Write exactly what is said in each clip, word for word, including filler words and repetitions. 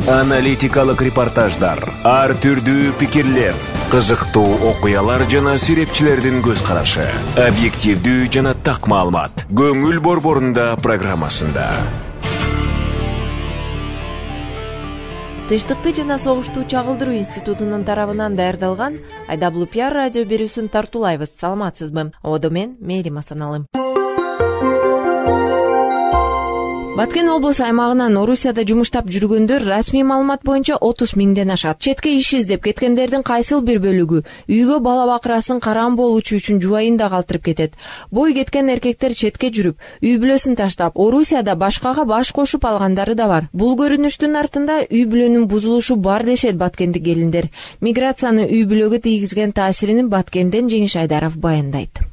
Аналитикалык репортаждар, ар түрдүү пикирлер, кызыктуу окуялар жана серепчилердин көз карашы, объективдүү жана так маалымат. Көңүл борборунда программасында. Тынчтыкты жана согушту чагылдыруу институтунун тарабынан даярдалган Айдаблу пиар радио берүүсүн тартуулайбыз. Саламатсызбы? Одо мен Мээрим Асаналым. Баткен облус аймагынан Орусияда жумуштап жүргөндөр расмий маалымат боюнча отуз миңден ашат. Четке иш издеп кеткендердин кайсыл бир бөлүгү үйгө бала бакырасын караан болучу үчүн жубайын да калтырып кетет. Бой кеткен эркектер четке жүрүп, үй бүлөсүн таштап, Орусияда башкага баш кошуп алгандары да бар. Бул көрүнүштүн артында үй бүлөнүн бузулушу бар дешет баткендик келиндер. Миграцияны үй бүлөгө тийгизген таасирин Баткенден Жеңиш Айдаров баяндайт.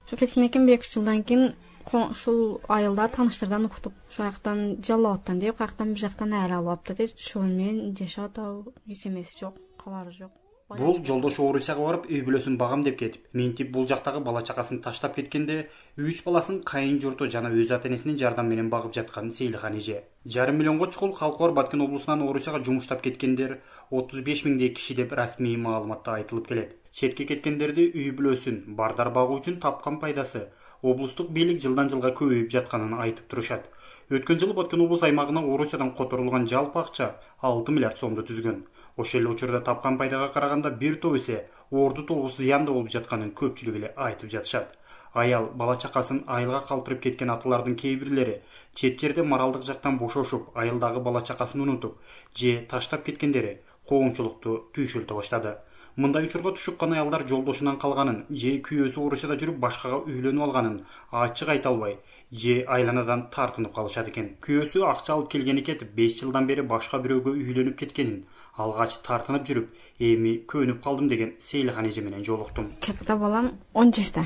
Ошо кеткен экен бир эки жылдан кийин ушул айылда тааныштардан уктуп, ошол жактан жалап аттан деп, каяктан бир жактан айыр алып атты деп, ошол менен жашап атабы, эч эмеси жок, кабары жок. Бул жолдошу Орусияга барып, үй бүлөсүн багам деп кетип, ментип бул жактагы бала чакасын таштап кеткенде, үч баласын кайын журту жана өз ата-энесинин жардам менен багып жаткан Сейлхан эже. Жарым миллионго чукул калкы бар Баткен облусунан Орусияга жумуштап кеткендер отуз беш миңдей киши деп расмий маалыматта айтылып келет. Четке кеткендерди үй бүлөсүн бардар багуу үчүн тапкан пайдасы облустук бийлик жылдан жылга көбөйүп жатканын айтып турушат. Өткөн жылы Баткен облус аймагына Орусиядан которулган жалпы акча алты миллиард сомду түзгөн. Ошол эле учурда тапкан пайдага караганда бир топ эсе орду толгус зыянда болуп жатканын көпчүлүк эле айтып жатышат. Аял бала чакасын айылга калтырып кеткен аталардын кээ бирлери чет жерде моралдык жактан бошошуп, айылдагы бала чакасын унутуп, же таштап кеткендери коомчулукту түйшөлтө баштады. Мындай учурга түшүккан аялдар жолдошунан калганын, же күйөөсү Орусияда жүрүп башкага үйлөнүп алганын ачык айта албай, же айланадан тартынып калышат экен. Күйөөсү акча алып келгени кетип, беш жылдан бери башка бирөөгө үйлөнүп кеткенин, алгач тартынып жүрүп, эми көнүп калдым деген Сейлхан эже менен жолуктум. Катта балам он жашта,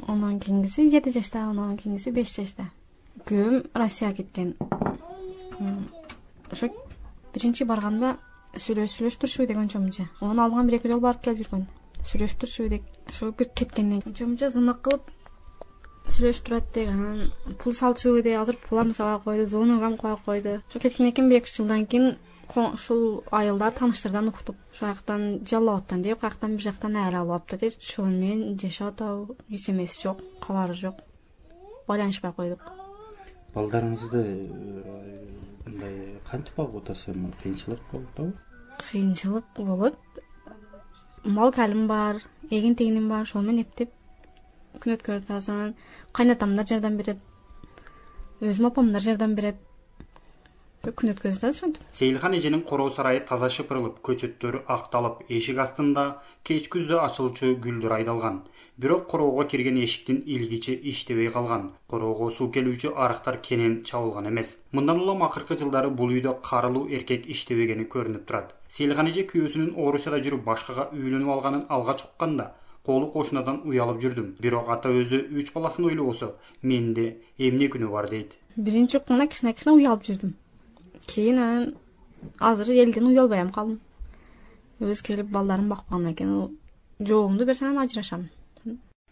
андан кийинкиси жети жашта, андан кийинкиси беш жашта. Күйөөм Россияга кеткен. Ошо биринчи барганда сүйлөшүп турчу деген чомча. Оны алган бир эки жол барып келип жүргөн. Сүйлөшүп турчу деп, ошо бир кеткенден кийин чомча зынак кылып сүйлөшүп турат деген, пул салчу деп, азыр пул амсабай койду, зонугам кой койду. Ошо кеткенден кийин бир эки жылдан кийин ушул айылда тааныштардан уктуп, ошол жактан жалап аттан деп, каяктан бир жактан айыр алып атты деп, ошол менен жашап атабы, эч эмеси жок, кабары жок. Байланышпай койдук. Балдарыңызды мындай кантип багып атасыз? Кыйынчылык болду? Кыйынчылык болот. Мал калым бар, эгин тегиним бар, ошол менен эптеп күн өткөрүп атасың. Кайнатамдар жардам берет. Өзүм апамдар жардам берет. Күн өткөрүп атат ошентип. Сейлхан эженин короо сарайы таза шыпырылып, көчөттөр акталып, эшик астында кеч күздө ачылчу гүлдөр айдалган. Бирок короого кирген эшиктин илгичи иштебей калган. Короого суу келүүчү арыктар кенен чабылган эмес. Мындан улам акыркы жылдары бул үйдө карылуу эркек иштебегени көрүнүп турат. Сейлхан эже күйөөсүнүн Орусияда жүрүп башкага үйлөнүп алганын алгач укканда колу кошунадан уялып жүрдүм. Бирок ата өзү үч баласын ойлобосо, менде эмне күнөө бар дейт. Биринчи укканда кичине-кичине уялып жүрдүм. Кийин азыр элден уялбай ам калдым. Өз келип балдарын баккандан кийин жоогумду берсем ажырашам.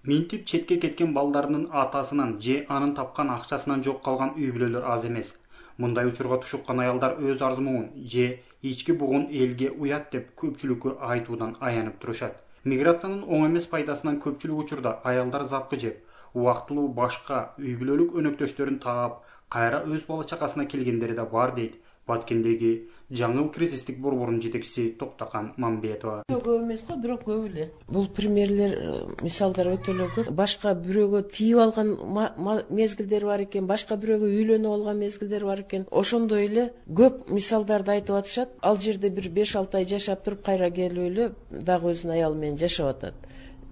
Ментип четке кеткен балдарынын атасынан же анын тапкан акчасынан жок калган үй бүлөлөр аз эмес. Мындай учурга түшүккан аялдар өз арзымуун же ички бугун элге уят деп көпчүлүккө айтуудан аянып турушат. Миграциянын оң эмес пайдасынан көпчүлүк учурда аялдар запкы жеп, убактылуу башка үй бүлөлүк өнөктөштөрүн таап, кайра өз бала чакасына келгендери да бар дейт Баткендеги жаңыл кризистик борборунун жетекчиси Токтакан Мамбетова. Көп эмес го, бирок көп эле. Бул примерлер, мисалдар өтө эле көп. Башка бирөөгө тийип алган мезгилдер бар экен, башка бирөөгө үйлөнүп алган мезгилдер бар экен. Ошондой эле көп мисалдарды айтып атышат. Ал жерде бир беш алты ай жашап туруп, кайра келип эле дагы өзүнүн аялы менен жашап атат.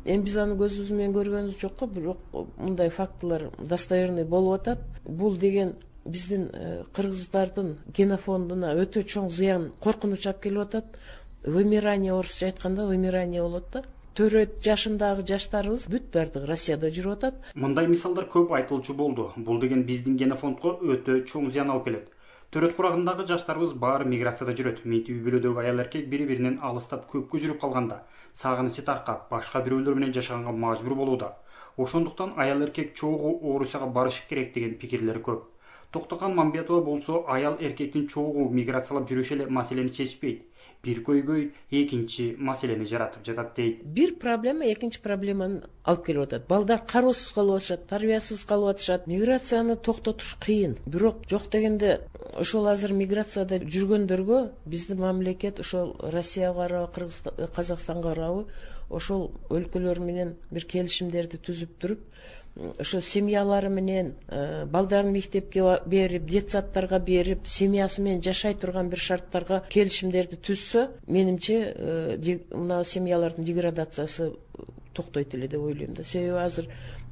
Эми биз аны көзүбүз менен көргөнүбүз жок го, бирок мындай фактылар достоверный болуп атат. Бул деген биздин кыргыздардын генофондуна өтө чоң зыян, коркунуч алып келип атат. Вымирание, орусча айтканда вымирание болот да. Төрөт жашындагы жаштарыбыз бүт бардыгы Россияда жүрүп атат. Мындай мисалдар көп айтылчу болду. Бул деген биздин генофондго өтө чоң зыян алып келет. Төрөт курагындагы жаштарыбыз баары миграцияда жүрөт. Ментип үй бүлөдөгү аял эркек бири-биринен алыстап көпкө жүрүп калганда, сагынычы таркап, башка бирөөлөр менен жашаганга мажбур болууда. Ошондуктан аял эркек чогуу Орусияга барышы керек деген пикирлер көп. Токтоган Мамбетова болсо аял эркектин чогуу миграциялап жүрүшү эле маселени чечпейт. Бир көйгөй экинчи маселени жаратып жатат дейт. Бир проблема экинчи проблеманы алып келип атат. Балдар кароосуз калып атышат, тарбиясыз калып атышат. Миграцияны токтотуш кыйын. Бирок жок дегенде ошол азыр миграцияда жүргөндөргө биздин мамлекет ошол Россияга карабы, Кыргызстан, Казакстанга карабы ошол өлкөлөр менен бир келишимдерди түзүп туруп, ошо семьялары менен балдарын мектепке берип, детсадтарга берип, семьясы менен жашай турган бир шарттарга келишимдерди түзсө, менимче мына семьялардын деградациясы токтойт эле деп ойлойм да. Себеби азыр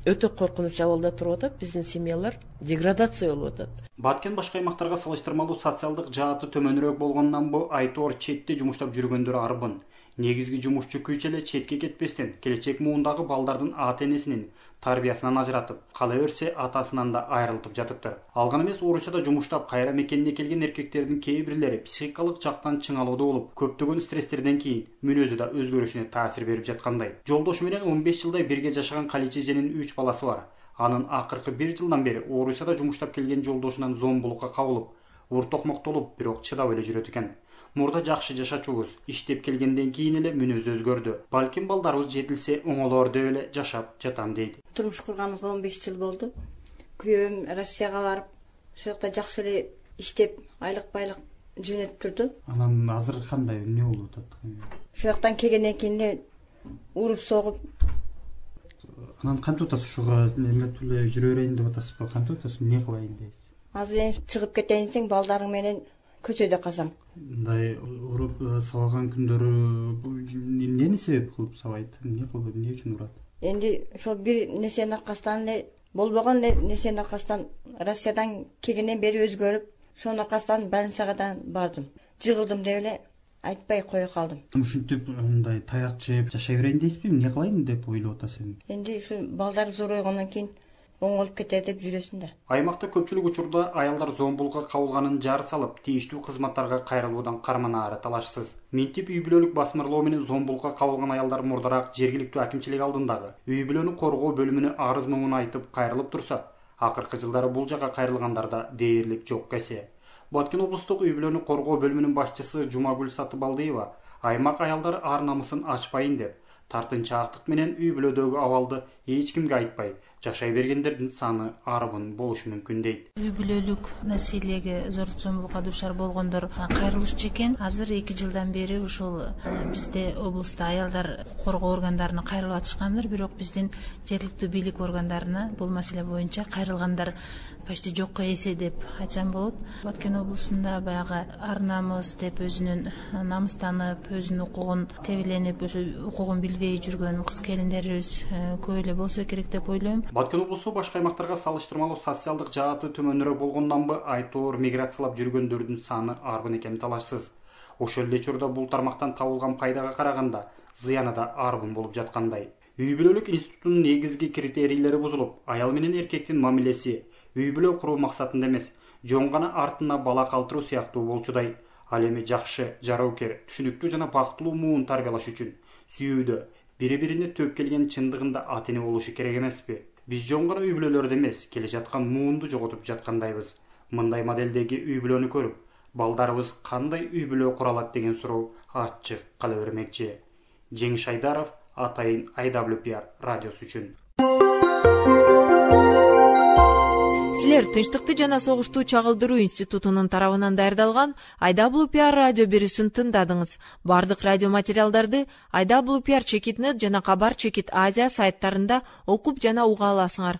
өтө коркунуч абалда туруп атат, биздин семьялар деградация болуп атат. Баткен башка аймактарга салыштырмалуу социалдык жааты төмөнүрөөк болгондон бу Айтор четте жумуштап жүргөндөр арбын. Негизги жумушчу күч эле четке кетпестен келечек муундагы балдардын ата-энесинин тарбиясынан ажыратып, кала берсе атасынан да айрылтып жатыптыр. Ал гана эмес, Орусияда жумуштап кайра мекенине келген эркектердин кээ бирлери психикалык жактан чыңалууда болуп, көптөгөн стресстерден кийин мүнөзү да өзгөрүшүнө таасир берип жаткандай. Жолдошу менен он беш жылдай бирге жашаган Каличе эженин үч баласы бар. Анын акыркы бир жылдан бери Орусияда жумуштап келген жолдошунан зомбулукка кабылып, ур-токмоктолуп, бирок чыдап эле жүрөт экен. Мурда жакшы жашачубуз, иштеп келгенден кийин эле мүнөзү өзгөрдү. Балким балдарыбыз жетилсе оңолор деп эле жашап жатам дейт. Турмуш курганыбызга он беш жыл болду. Күйөөм Россияга барып, ошол жакта жакшы эле иштеп, айлык байлык жөнөтүп турду. Анан азыр кандай, эмне болуп атат? Ошол жактан келгенден кийин эле уруп согуп. Анан кантип атасыз ушуга эметип эле жүрө берейин деп атасызбы? Кантип атасыз? Эмне кылайын дейсиз? Азыр эми чыгып кетейин десең, балдарың менен көчөдө калсаң. Мындай уруп сабаган күндөрү эмнени себеп кылып сабайт? Эмне кылып, эмне үчүн урат? Энди ошол бир нерсенин аркасынан эле болбогон нерсенин аркасынан Россиядан келгенден бери өзгөрүп, ошонун аркасынан больницага да бардым. Жыгылдым деп эле айтпай кое калдым. Ушинтип мындай таяк жеп жашай берейин дейсизби? Эмне кылайын деп ойлоп атасыз? Энди ушу балдар зоройгондон кийин оңолуп кетер деп жүрөсүң да. Аймакта көпчүлүк учурда аялдар зомбулукка кабылганын жар салып, тийиштүү кызматтарга кайрылуудан карманаары талашсыз. Минтип үй бүлөлүк басмырлоо менен зомбулукка кабылган аялдар мурдараак жергиликтүү акимчилик алдындагы үй бүлөнү коргоо бөлүмүнө арыз моңун айтып кайрылып турса, акыркы жылдары бул жакка кайрылгандарда дээрлик жок кесе. Баткен облустук үй бүлөнү коргоо бөлүмүнүн башчысы Жумагүл Сатыбалдиева аймак аялдар ар намысын ачпайын деп, тартынчаактык менен үй бүлөдөгү абалды эч кимге айтпай жашай бергендердин саны арбын болушу мүмкүн дейт. Үй бүлөлүк насилиеге, зордук зомбулукка дуушар болгондор кайрылышчу экен. Азыр эки жылдан бери ушул бизде облуста аялдар коргоо органдарына кайрылып атышкандыр, бирок биздин жергиликтүү бийлик органдарына бул маселе боюнча кайрылгандар почти жокко эсе деп айтсам болот. Баткен облусунда баягы ар намыс деп өзүнүн намыстанып, өзүнүн укугун тебеленип, ошо укугун билбей жүргөн кыз келиндерибиз көп эле болсо керек деп ойлойм. Баткен облусу башка аймактарга салыштырмалуу социалдык жааты төмөнүрөөк болгондонбу Айтор миграциялап жүргөндөрдүн саны арбын экени талашсыз. Ошол эле учурда бул тармактан табылган пайдага караганда зыяны да арбын болуп жаткандай. Үй бүлөлүк институтунун негизги критерийлери бузулуп, аял менен эркектин мамилеси үй бүлө куруу максатында эмес, жон гана артына бала калтыруу сыяктуу болчудай. Ал эми жакшы, жароокер, түшүнүктүү жана бактылуу муун тарбиялаш үчүн сүйүүдө бири-бирине төп келген чындыгында ата-эне болушу керек эмеспи? Биз жон гана үй бүлөлөрдө эмес, келе жаткан муунду жоготуп жаткандайбыз. Мындай моделдеги үй бүлөнү көрүп, балдарыбыз кандай үй бүлө кура алат деген суроо ачык кала бермекчи. Жеңиш Айдаров, Атайын ай дабл ю пи ар радиосу үчүн. Силер Тынчтыкты жана согушту чагылдыруу институтунун тарабынан даярдалган ай дабл ю пи ар радио берүүсүн тыңдадыңыз. Бардык радио материалдарды ай дабл ю пи ар чекит нет жана Кабар чекит Азия сайттарында окуп жана уга аласыңар.